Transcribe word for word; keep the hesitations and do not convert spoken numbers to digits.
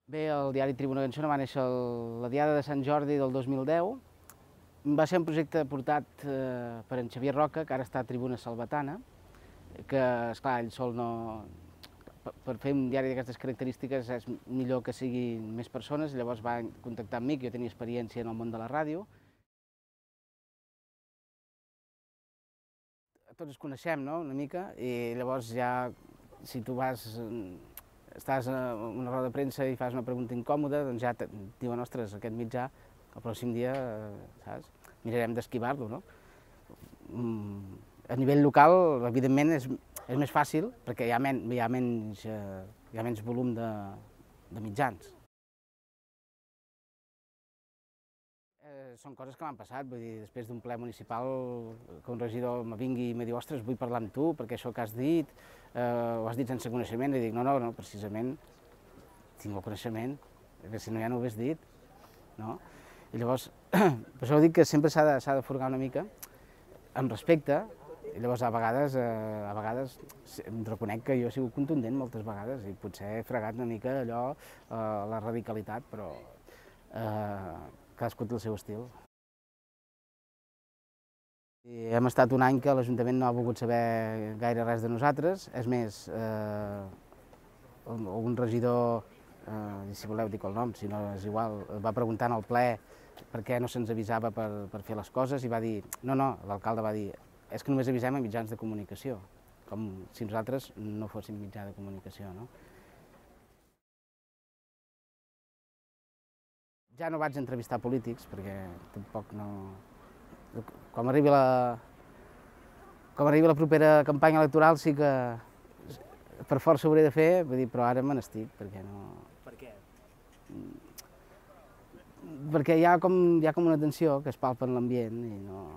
Bé, el diari Tribuna Ganxona va néixer la Diada de Sant Jordi del dos mil deu. Va ser un projecte portat eh, per en Xavier Roca, que ara està a Tribuna Salvatana, que, esclar, ell sol no... Per fer un diari d'aquestes característiques és millor que siguin més persones, llavors va contactar amb mi, que jo tenia experiència en el món de la ràdio. Tots ens coneixem, no?, una mica, i llavors ja, si tu vas, estàs en una roda de premsa i fas una pregunta incòmoda, doncs ja et diuen, ostres, aquest mitjà, el pròxim dia, saps, mirarem d'esquivar-lo, no? A nivell local, evidentment, és, és més fàcil, perquè hi ha, men, hi ha, menys, hi ha menys volum de, de mitjans. Són coses que m'han passat, vull dir, després d'un ple municipal que un regidor me vingui i me diu, ostres, vull parlar amb tu perquè això que has dit, eh, ho has dit sense coneixement, i dic, no, no, no, precisament tinc el coneixement, perquè si no ja no ho hagués dit, no? I llavors, per això dic que sempre s'ha de, s'ha de furgar una mica, amb respecte, i llavors a vegades, eh, a vegades em reconec que jo he sigut contundent moltes vegades i potser he fregat una mica allò, eh, la radicalitat, però eh, cadascú té el seu estil. I hem estat un any que l'Ajuntament no ha volgut saber gaire res de nosaltres, és més, eh, un regidor, eh, si voleu dic el nom, si no és igual, va preguntar en el ple per què no se'ns avisava per, per fer les coses i va dir, no, no, l'alcalde va dir, és que només avisem a mitjans de comunicació, com si nosaltres no fóssim mitjà de comunicació, no? Ja no vaig entrevistar polítics, perquè tampoc no... Com arribi la, com arribi la propera campanya electoral sí que per força ho hauré de fer, vull dir, però ara me n'estic, perquè no... Per què? Perquè hi ha com, hi ha com una tensió que es palpa en l'ambient i no...